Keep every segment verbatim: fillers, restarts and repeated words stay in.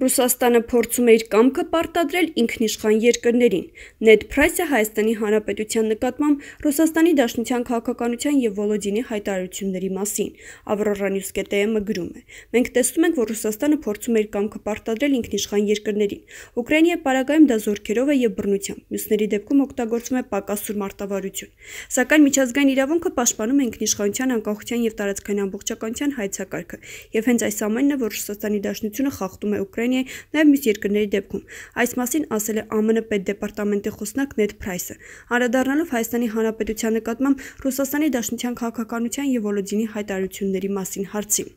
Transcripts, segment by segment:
Ռուսաստանը փորձում է իր կամքը պարտադրել ինքնիշխան երկրներին։ Նեդ Փրայսը Հայաստանի Հանրապետության նկատմամբ Ռուսաստանի Դաշնության քաղաքականության և Վոլոդինի հայտարարությունների մասին։ Ավրորա Նյուս կետը գրում է. Մենք տեսնում ենք, որ Ռուսաստանը փորձում է իր կամքը պարտադրել ինքնիշխան երկրներին։ Ուկրաինայի պարագայում դա զորքերով է և բռնությամբ, մյուսների դեպքում օգտագործվում է պակասուր մարտավարություն։ Սակայն միջազգային իրավունքը պաշտպանում է ինքնիշխանության, անկախության և տարածքային ամբողջականության հայեցակարգը, և հենց այս ամենն է, որ Ռուսաստանի Դաշնությունը խախտում է Ուկրաինայի, նաև մյուս երկրների դեպքում։ Այս մասին ասել է Ա Մ Ն պետդեպարտամենտի խոսնակ Նեդ Փրայսը, անդրադառնալով Հայաստանի Հանրապետության նկատմամբ Ռուսաստանի Դաշնության քաղաքականության և Վոլոդինի հայտարարությունների մասին հարցին։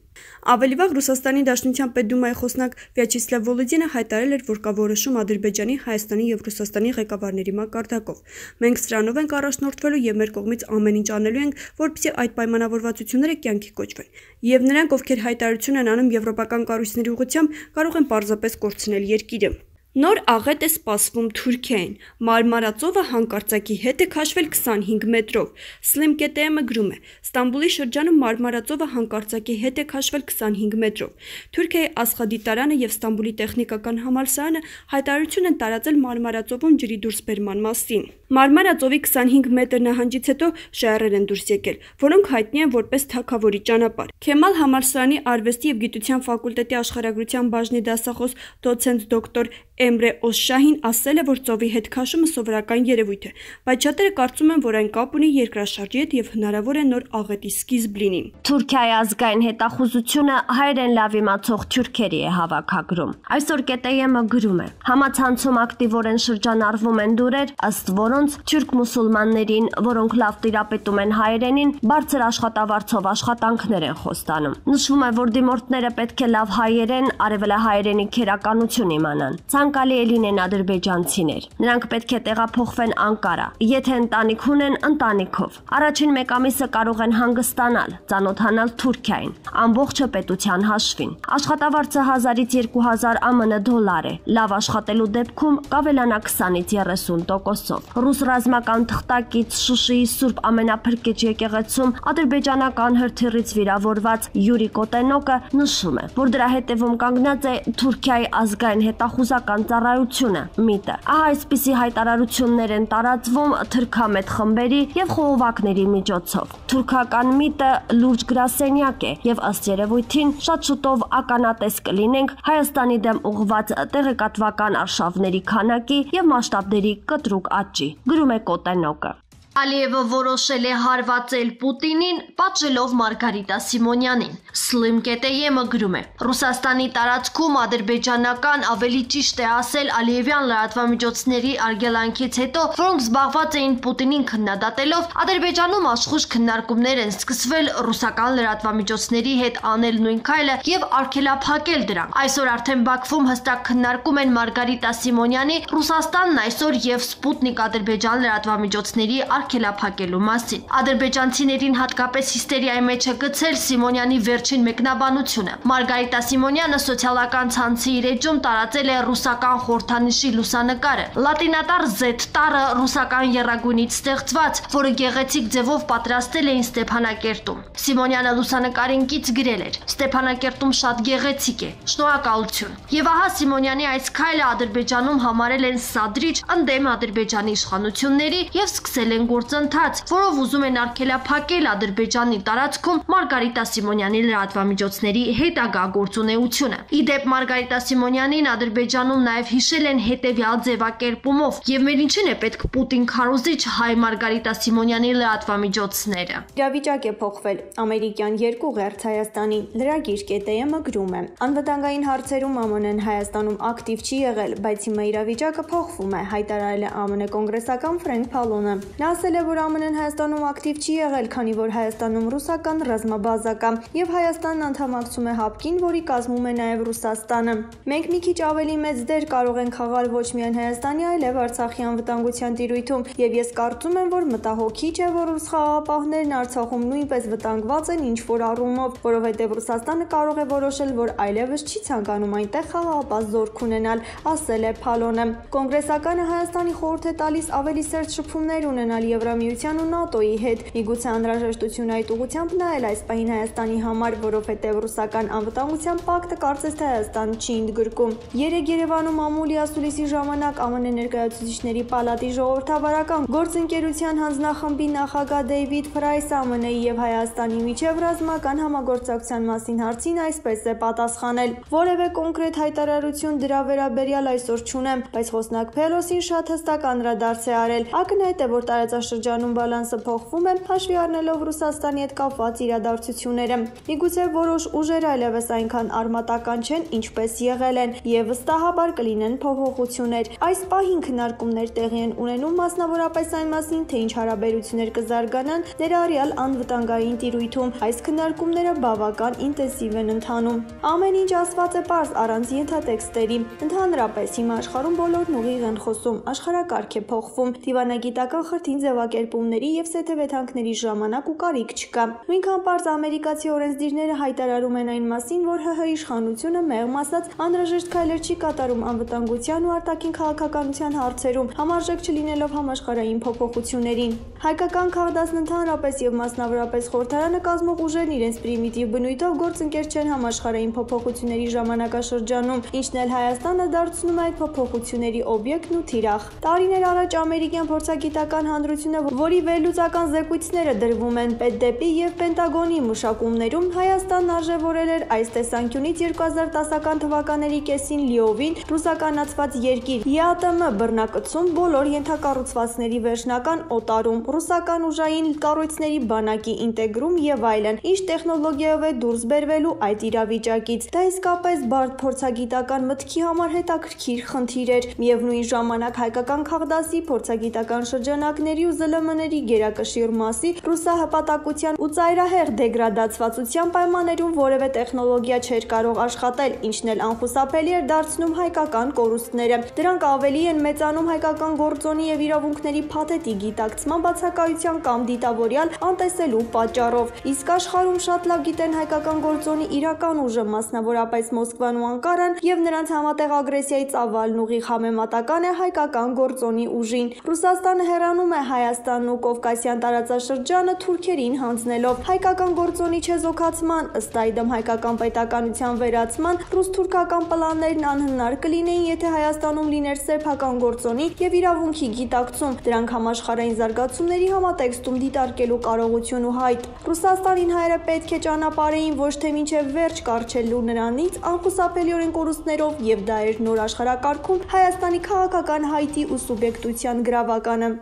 Ավելի վաղ Ռուսաստանի Դաշնության պետդումայի խոսնակ Վյաչեսլավ Վոլոդինը հայտարարել էր, որ կա որոշում Ադրբեջանի, Հայաստանի և Ռուսաստանի ղեկավարների մակարդակով։ Մենք սրանով ենք առաջնորդվելու և մեր կողմից ամեն ինչ անելու ենք, որպեսզի այդ պայմանավորվածությունները կյանքի կոչվեն։ Եվ նրանք, ովքեր հայտարարություն են անում եվրոպական կառույցների ուղղությամբ, կարող են պարզապես կորցնել երկիրը։ Նոր աղետ է սպասվում Թուրքիային։ Մարմարածովը հանկարծակի հետ է քաշվել քսանհինգ մետրով։ Slim կետը գրում է. Ստամբուլի շրջանում Մարմարածովը հանկարծակի հետ է քաշվել քսանհինգ մետրով։ Թուրքիայի Ասխադիտարանը և Ստամբուլի տեխնիկական համալսարանը հայտարարություն են տարածել Մարմարածովում ջրի դուրսբերման մասին։ Մարմարածովի քսանհինգ մետր նահանջից հետո ժայռեր են դուրս եկել, որոնք հայտնի են որպես թագավորի ճանապարհ։ Քեմալ համալսարանի արվեստի և գիտության ֆակուլտետի աշխարհագրության բաժնի դասախոս դոցենտ դոկտոր Էմրե Օսշահին ասել է, որ ծովի հետ քաշումը սովորական երևույթ է, բայց շատերը կարծում են, որ այն կապ ունի երկրաշարժի հետ և հնարավոր է նոր աղետի սկիզբ լինի։ Թուրքիայի ազգային հետախուզությունը հայերեն լավ իմացող թուրքերի է հավաքագրում։ Այսօր կետը գրում է. Համացանցում ակտիվորեն շրջանառվում են լուրեր, ըստ որոնց թուրք մուսուլմաններին, որոնք լավ տիրապետում են հայերենին, բարձր աշխատավարձով աշխատանքներ են խոստանում։ Նշվում է, որ դիմորդները պետք է լավ հայերեն, արևելահայերենի քերականություն իմանան։ Ցանկալի է լինեն ադրբեջանցիներ։ Նրանք պետք է տեղափոխվեն Անկարա։ Եթե ընտանիք ունեն, ընտանիքով։ Առաջին մեկ ամիսը կարող են հանգստանալ, ծանոթանալ Թուրքիային, ամբողջը պետության հաշվին։ Աշխատավարձը հազարից երկու հազար Ա Մ Ն դոլար է։ Լավ աշխատելու դեպքում կավելանա քսանից երեսուն տոկոսով։ Ռուս ռազմական թղթակից Շուշիի Սուրբ Ամենափրկիչ եկեղեցում ադրբեջանական հրթիռից վիրավորված Յուրի Կոտենոկը նշում է, որ դրա հետևում կանգնած է Թուրքիայի ազգային հետախուզական ծառայությունը՝ ՄԻՏ-ը։ Ահա այսպիսի հայտարարություններ են տարածվում թրքամետ խմբերի և խողովակների միջոցով։ Թուրքական ՄԻՏ-ը լուրջ գրասենյակ է և ըստ երևույթին շատ շուտով ականատես կլինենք Հայաստանի դեմ ուղղված տեղեկատվական արշավների քանակի և մասշտաբների կտրուկ աճի, գրում է Կոտենոկը։ Ալիևը որոշել է հարվածել Պուտինին, պատժելով Մարգարիտա Սիմոնյանին։ Slim կետը գրում է. Ռուսաստանի տարածքում ադրբեջանական, ավելի ճիշտ է ասել Ալիևյան լրատվամիջոցների արգելանքից հետո, որոնք զբաղված էին Պուտինին քննադատելով, Ադրբեջանում աշխույժ քննարկումներ են սկսվել ռուսական լրատվամիջոցների հետ անել նույն քայլը և արգելափակել դրան։ Այսօր արդեն Բաքվում հստակ քննարկում են Մարգարիտա Սիմոնյանի, Ռուսաստանն այսօր և Սպուտնիկ ադրբեջան լրատվամիջոցների արգելափակելու մասին։ Ադրբեջանցիներին հատկապես հիստերիայի մեջ է գցել Սիմոնյանի վերջին մեկնաբանությունը։ Մարգարիտա Սիմոնյանը սոցիալական ցանցի իր էջում տարածել է ռուսական խորհրդանիշի լուսանկարը։ Լատինատար Z տառը ռուսական եռագույնից ստեղծված, որը գեղեցիկ ձևով պատրաստել էին Ստեփանակերտում։ Սիմոնյանը լուսանկարին կից գրել էր. Ստեփանակերտում շատ գեղեցիկ է։ Շնորհակալություն։ Եվ ահա Սիմոնյանի այս քայլը Ադրբեջանում համարել են սադրիչ ընդդեմ Ադրբեջանի իշխանությունների և սկսել են գործընթաց, որով ուզում են արգելափակել Ադրբեջանի տարածքում Մարգարիտա Սիմոնյանի լրատվամիջոցների հետագա գործունեությունը։ Ի դեպ, Մարգարիտա Սիմոնյանին Ադրբեջանում նաև հիշել են հետևյալ ձևակերպումով, և մեր ինչին է պետք Պուտին քարոզիչ հայ Մարգարիտա Սիմոնյանի լրատվամիջոցները։ Իրավիճակ է փոխվել։ Ամերիկյան երկու ղերձ Հայաստանի լրագիր կետը գրում է. Անվտանգային հարցերում Ա Մ Ն-ն Հայաստանում ակտիվ չի եղել, բայց հիմա իրավիճակը փոխվում է, հայտարարել է Ա Մ Ն կոնգրեսական Ֆրենկ Փալոնը։ Նա ասել է, որ Ա Մ Ն-ն Հայաստանում ակտիվ չի եղել, քանի որ Հայաստանում ռուսական ռազմաբազա կա, և Հայաստանն անդամակցում է հապկին, որի կազմում է նաև Ռուսաստանը։ Մենք մի քիչ ավելի մեծ դեր կարող ենք խաղալ ոչ միայն Հայաստանի, այլև Արցախի անվտանգության տիրույթում, և ես կարծում եմ, որ մտահոգիչ է, որ ռուս խաղաղապահներն Արցախում նույնպես վտանգված են ինչ-որ առումով, որովհետև Ռուսաստանը կարող է որոշել, որ այլևս չի ցանկանում այնտեղ խաղաղապահ զորք ունենալ, ասել է Փալոնը։ Կոնգրեսականը Հայաստանի խորհուրդ է տալիս ավելի սերտ շփումներ ունենալ Եվրամիության ու ՆԱՏՕ-ի հետ։ Միգուցե անհրաժեշտություն այդ ուղղությամբ նայել այս պահին Հայաստանի համար, որովհետև ռուսական անվտանգության պակտը կարծես թե Հայաստան չի ընդգրկում։ Երեկ Երևանում ամուլի ասուլիսի ժամանակ ԱՄՆ ներկայացուցիչների պալատի ժողովրդավարական գործընկերության հանձնախմբի նախագահ Դեյվիդ Փրայսը ԱՄՆ-ի եւ Հայաստանի միջև ռազմական համագործակցության մասին հարցին այսպես է պատասխանել. «Որևէ կոնկրետ հայտարարություն դրա վերաբերյալ այսօր չունեմ, բայց խոսնակ Փելոսին շատ հստակ անդրադարձ է արել։ Ակնհայտ է, որ տարածաշրջանում բալանսը փոխվում է, հաշվի առնելով Ռուսաստանի հետ կապված իրադարձությունները։ Միգուցե որոշ ուժեր այլևս այնքան արմատական չեն, ինչպես եղել են, եւ վստահաբար կլինեն փոփոխություններ։ Այս պահին քննարկումներ տեղի են ունենում մասնավորապես այն մասին, թե ինչ հարաբերություններ կզարգանան ներառյալ անվտանգային տիրույթում։ Այս քննարկումները բավական ինտենսիվ են ընթանում։ Ամեն ինչ ասված է պարզ առանց ենթատեքստերի։ Ընդհանրապես հիմա աշխարհում բոլորն ուղիղ են խոսում, աշխարհակարգ է փոխվում, դիվանագիտական խրթին ձևակերպումների եւ սեթեվեթանքների ժամանակ ու կարիք չկա։ Նույնքան պարզ ամերիկացի օրենսդիրները հայտարարում են այն մասին, որ ՀՀ իշխանությունը մեղմ ասած անհրաժեշտ քայլեր չի կատարում անվտանգության ու արտաքին քաղաքականության հարցերում, համարժեք չլինելով համաշխարհային փոփոխություններին։ Հայկական քաղաքացիներն ընդհանրապես եւ մասնավորապես խորհրդարանը կազմող ուժերն իրենց պրիմիտիվ բնույթով գործընկեր չեն համաշխարհային փոփոխությունների ժամանակաշրջանում, ինչն էլ Հայաստանը դարձնում է այդ փոփոխությունների օբյեկտն ու թիրախ։ Տարիներ առաջ ամերիկյան փորձագիտական հանրությունը, որի վերլուծական զեկույցները դրվում են Պետդեպի եւ Պենտագոնի մշակումներում, Հայաստանն արժեվորել էր այս տեսանկյունից երկու հազար տասական թվականների կեսին լիովին ռուսականացված երկիր, ԵԱՏՄ բռնակցում, բոլոր ենթակառուցվածքների վերջնական օտարում, ռուսական ուժային կառույցների բանակի ինտեգրում եւ այլն, ինչ տեխնոլոգիայով է դուրս բերվելու այդ իրավիճակից։ Դա իսկապես բարդ փորձագիտական մտքի համար հետաքրքիր խնդիր էր։ Միևնույն ժամանակ հայկական քաղդասի փորձագիտական շրջանակների ու ԶԼՄ-ների գերակշիռ մասի ռուսահպատակության ու ծայրահեղ դեգրադացվածության պայմաններում որևէ տեխնոլոգիա չէր կարող աշխատել, ինչն էլ անխուսափելի էր դարձնում հայկական կորուստները։ Դրանք ավելի են մեծանում հայկական գործոնի եւ իրավունքների փաթեթի գիտակցման բացակայության կամ դիտավորյալ անտեսելու պատճառով։ Իսկ աշխարհում շատ լավ գիտեն հայկական գործոնի իրական ուժը, մասնավորապես Մոսկվան ու Անկարան, եւ նրանց համատեղ ագրեսիայի ծավալն ուղիղ համեմատական է հայկական գործոնի ուժին։ Ռուսաստանը հեռանում է Հայաստանն ու Կովկասյան տարածաշրջանը թուրքերին հանձնելով հայկական գործոնի չեզոքացման, ըստ այդմ հայկական պետականության վերացման ռուս-թուրքական պլաններն անհնար կլինեին, եթե Հայաստանում լիներ սեփական գործոնի եւ իրավունքի գիտակցում, դրանք համաշխարհային զարգացումների համատեքստում դիտարկելու կարողություն ու հայտ։ Ռուսաստանին հայերը պետք է ճանապարհեին ոչ թե մինչև վերջ կառչելու նրանից անխուսափելիորեն կորուստներով, եւ դա էր նոր աշխարհակարգում Հայաստանի քաղաքական հայտի ու սուբյեկտության գրավականը։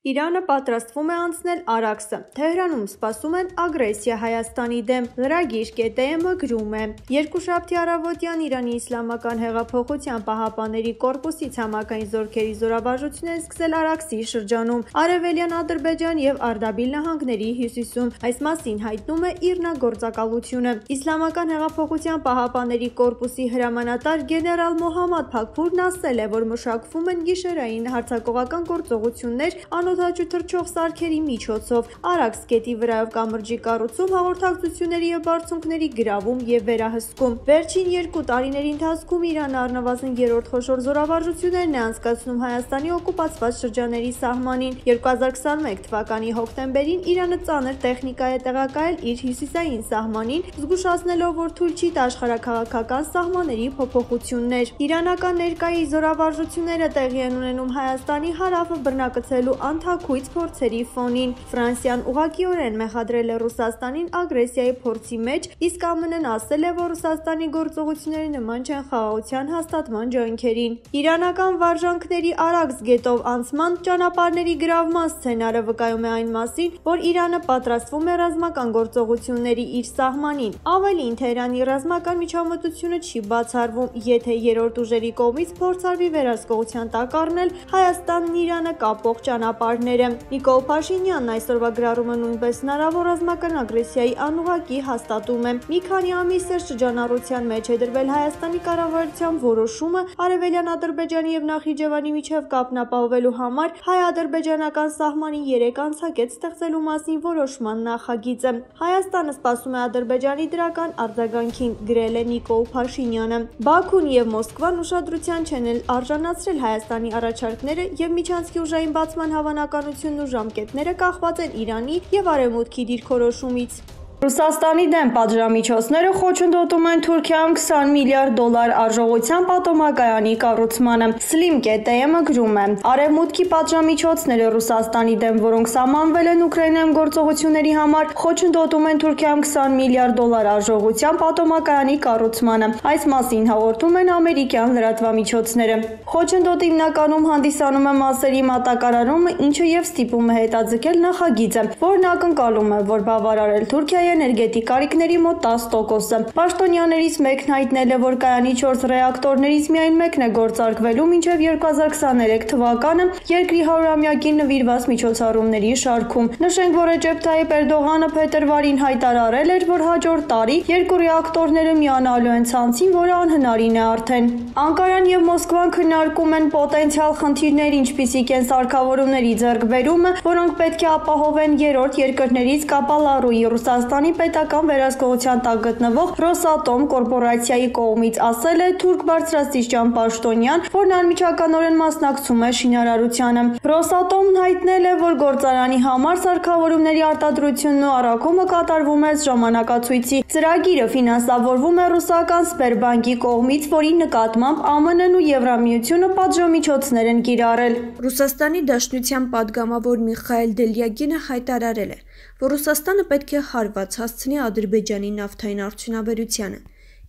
Իրանը պատրաստվում է անցնել Արաքսը։ Թեհրանում սպասում են ագրեսիա Հայաստանի դեմ։ Լրագիր ԿՏՄ գրում է. Երկուշաբթի առավոտյան Իրանի Իսլամական հեղափոխության պահապանների կորպուսի ցամաքային զորքերի զորավարժությունն սկսել Արաքսի շրջանում, Արևելյան Ադրբեջան եւ Արդաբիլ նահանգների հյուսիսում։ Այս մասին հայտնում է ԻՌՆԱ գործակալությունը։ Իսլամական հեղափոխության պահապանների կորպուսի հրամանատար գեներալ Մոհամմադ Փաքփուրն ասել է, որ մշակվում են գիշերային հարձակողական գործողություններ անօդաչու թռչող սարքերի միջոցով, Արաքս գետի վրայով կամրջի կառուցում, հաղորդակցությունների եւ բարձունքների գրավում եւ վերահսկում։ Վերջին երկու տարիների ընթացքում Իրանը առնվազն երրորդ խոշոր զորավարժություններն է անցկացնում Հայաստանի օկուպացված շրջանների սահմանին։ երկու հազար քսաներորդ թվականի հոկտեմբերին Իրանը ծանր տեխնիկա է տեղակայել իր հյուսիսային սահմանին, զգուշացնելով, որ թույլ չի տա աշխարհաքաղաքական սահմանների փոփոխություններ։ Իրանական ներկայի զորավարժությունները տեղի են ունենում Հայաստանի հարավը բռնակցելու անթաքույց փորձերի ֆոնին։ Ֆրանսիան ուղղակիորեն մեղադրել է Ռուսաստանին ագրեսիայի փորձի մեջ, իսկ ԱՄՆ-ն ասել է, որ Ռուսաստանի գործողությունները նման չեն խաղաղության հաստատման ջանքերին։ Իրանական վարժանքների Արաքս գետով անցման ճանապարհների գրավման սցենարը վկայում է այն մասին, որ Իրանը պատրաստվում է ռազմական գործողությունների իր սահմանին։ Ավելին, Թեհրանի ռազմական միջամտությունը չի բացառվում, եթե երրորդ ուժերի կողմից փորձ արվի վերահսկողության տակ առնել Հայաստանն Իրանը կապող ճանապարհները։ Նիկոլ Փաշինյանն այսօրվա գրառումը նույնպես հնարավոր ռազմական ագրեսիայի անուղղակի հաստատում է։ Մի քանի ամիս է շրջանառության մեջ է դրվել Հայաստանի կառավարության որոշումը Արևելյան Ադրբեջանի եւ Նախիջևանի միջև կապն ապահովելու համար հայ-ադրբեջանական սահմանին երեք անցակետ ստեղծելու մասին որոշման նախագիծը։ Հայաստանը սպասում է Ադրբեջանի դրական արձագանքին, գրել է Նիկոլ Փաշինյանը։ Բաքուն եւ Մոսկվան ուշադրության չեն արժանացրել Հայաստանի առաջարկները եւ միջանցքի ուժային բացման հավանական ժամանակականությունն ու ժամկետները կախված են Իրանի եւ Արևմուտքի դիրքորոշումից։ Ռուսաստանի դեմ պատժամիջոցները խոչընդոտում են Թուրքիայում քսան միլիարդ դոլար արժողության պատոմակայանի կառուցմանը։ Slim կետ է-ը գրում է. Արևմուտքի պատժամիջոցները Ռուսաստանի դեմ, որոնք սահմանվել են Ուկրաինայում գործողությունների համար, խոչընդոտում են Թուրքիայում քսան միլիարդ դոլար արժողության պատոմակայանի կառուցմանը։ Այս մասին հաղորդում են ամերիկյան լրատվամիջոցները։ Խոչընդոտը հիմնականում հանդիսանում է մասերի մատակարարումը, ինչը եւ ստիպում է հետաձգել նախագիծը, որն ակնկալում է, որ բավարարել Թուրքիայի էներգետիկ կարիքների մոտ տասը տոկոսը։ Պաշտոնյաներից մեկն հայտնել է, որ կայանի չորս ռեակտորներից միայն մեկն է գործարկվելու մինչև երկու հազար քսաներեք թվականը երկրի հարյուրամյակին նվիրված միջոցառումների շարքում։ Նշենք, որ Ռեջեփ Թայիփ Էրդողանը փետրվարին հայտարարել էր, որ հաջորդ տարի երկու ռեակտորները միանալու են ցանցին, որը անհնարին է արդեն։ Անկարան եւ Մոսկվան քննարկում են պոտենցիալ խնդիրներ, ինչպիսիք են սարքավորումների ձեռքբերումը, որոնք պետք է ապահովեն երրորդ երկրներից Կապալառուի Ռուսաստանի պետական վերահսկողության տակ գտնվող Ռոսատոմ կորպորացիայի կողմից, ասել է թուրք բարձրաստիճան պաշտոնյան, որն անմիջականորեն մասնակցում է շինարարությանը։ Ռոսատոմն հայտնել է, որ գործարանի համար սարքավորումների արտադրությունն ու առաքումը կատարվում է ժամանակացույցի։ Ծրագիրը ֆինանսավորվում է ռուսական Սբերբանկի կողմից, որի նկատմամբ Α M N-ն ու Եվրամիությունը պատժամիջոցներ են կիրառել։ Ռուսաստանի Դաշնության պատգամավոր Միխայել Դելյագինը հայտարարել է, որ Ռուսաստանը պետք է հարված հասցնի Ադրբեջանի նավթային արդյունաբերությանը։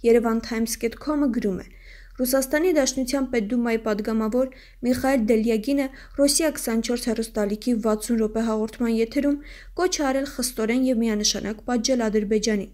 Yerevan Times dot com-ը գրում է. Ռուսաստանի Դաշնության Պետդումայի պատգամավոր Միխայել Դելյագինը Ռոսիա քսանչորս հեռուստալիքի վաթսուն րոպե հաղորդման եթերում կոչ է արել խստորեն եւ միանշանակ պատժել Ադրբեջանին,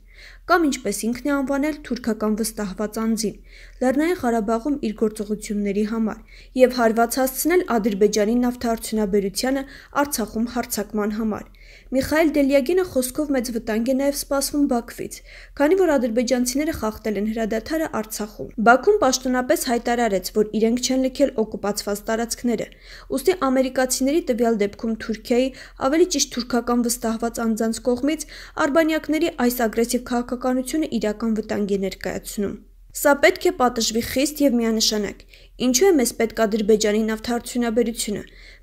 կամ ինչպես ինքն է անվանել թուրքական վստահված անձին, Լեռնային Ղարաբաղում իր գործողությունների համար եւ հարված հասցնել Ադրբեջանի նավթարդյունաբերությանը Արցախում հարձակման համար։ Միխայել Դելյագինը խոսքով մեծ վտանգ է նաև սպասվում Բաքվից, քանի որ ադրբեջանցիները խախտել են հրադադարը Արցախում։ Բաքուն պաշտոնապես հայտարարեց, որ իրենք չեն լքել օկուպացված տարածքները, ուստի ամերիկացիների տվյալ դեպքում Թուրքիայի, ավելի ճիշտ թուրքական վստահված անձանց կողմից արբանյակների այս ագրեսիվ քաղաքականությունը իրական վտանգ է ներկայացնում։ Սա պետք է պատժվի խիստ եւ միանշանակ։ Ինչու է մեզ պետք Ադրբեջանի նավթարդյունաբերությունը։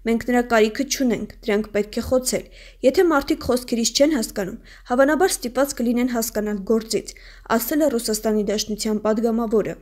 Մենք նրա կարիքը չունենք, դրանք պետք է խոցել։ Եթե մարդիկ խոսքերից չեն հասկանում, հավանաբար ստիպված կլինեն հասկանալ գործից, ասել է Ռուսաստանի Դաշնության պատգամավորը։